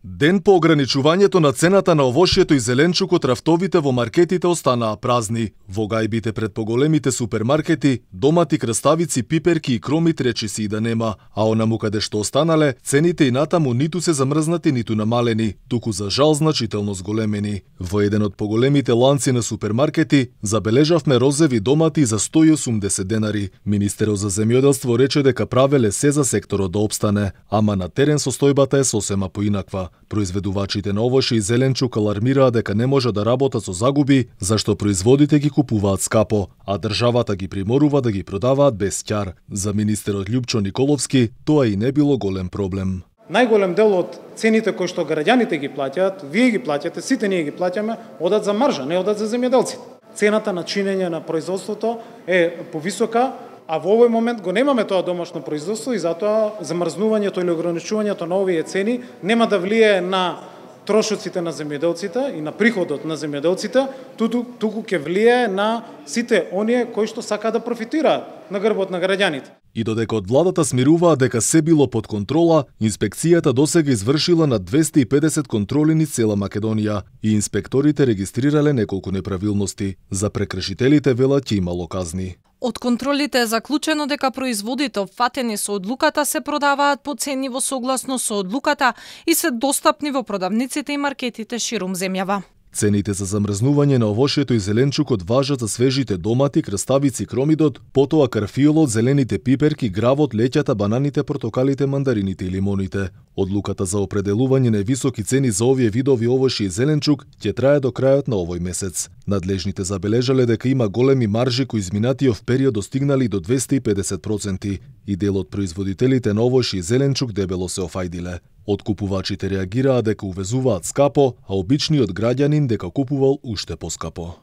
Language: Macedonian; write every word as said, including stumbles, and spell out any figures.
Ден по ограничувањето на цената на овошјето и зеленчукот, рафтовите во маркетите останаа празни. Во гајбите пред поголемите супермаркети, домати, краставици, пиперки и кромит речиси и да нема, а онаму каде што останале, цените и натаму ниту се замрзнати, ниту намалени, туку за жал значително зголемени. Во еден од поголемите ланци на супермаркети забележавме розеви домати за сто и осумдесет денари. Министерот за земјоделство рече дека правеле се за секторот да опстане, ама на терен состојбата е сосема поинаква. Произведувачите на овошје и зеленчук алармираа дека не може да работат со загуби, зашто производите ги купуваат скапо, а државата ги приморува да ги продаваат без ќар. За министерот Љупчо Николовски тоа и не било голем проблем. Најголем дел од цените кои што граѓаните ги плаќаат, вие ги плаќате, сите ние ги плаќаме, одат за маржа, не одат за земјоделците. Цената на чинење на производството е повисока, а во овој момент го немаме тоа домашно производство и затоа замрзнувањето или ограничувањето на овие цени нема да влијае на трошоците на земјоделците и на приходот на земјоделците, туку, туку ќе влијае на сите оние кои што сакаат да профитираат на грбот на граѓаните. И додека од владата смируваа дека се било под контрола, инспекцијата досега извршила на двесте и педесет контроли низ цела Македонија и инспекторите регистрирале неколку неправилности. За прекршителите велат ќе имало казни. Од контролите е заклучено дека производите опфатени со одлуката се продаваат по цени во согласно со одлуката и се достапни во продавниците и маркетите ширум земјава. Цените за замрзнување на овошјето и зеленчукот важат за свежите домати, краставици, кромидот, потоа карфиолот, зелените пиперки, гравот, леќата, бананите, портокалите, мандарините и лимоните. Одлуката за определување на високи цени за овие видови овошје и зеленчук ќе трае до крајот на овој месец. Надлежните забележале дека има големи маржи кои изминатиот период достигнали до двесте и педесет проценти и дел од производителите на овошје и зеленчук дебело се офајдиле. Откупувачите реагираа дека увезуваат скапо, а обичниот граѓанин дека купувал уште поскапо.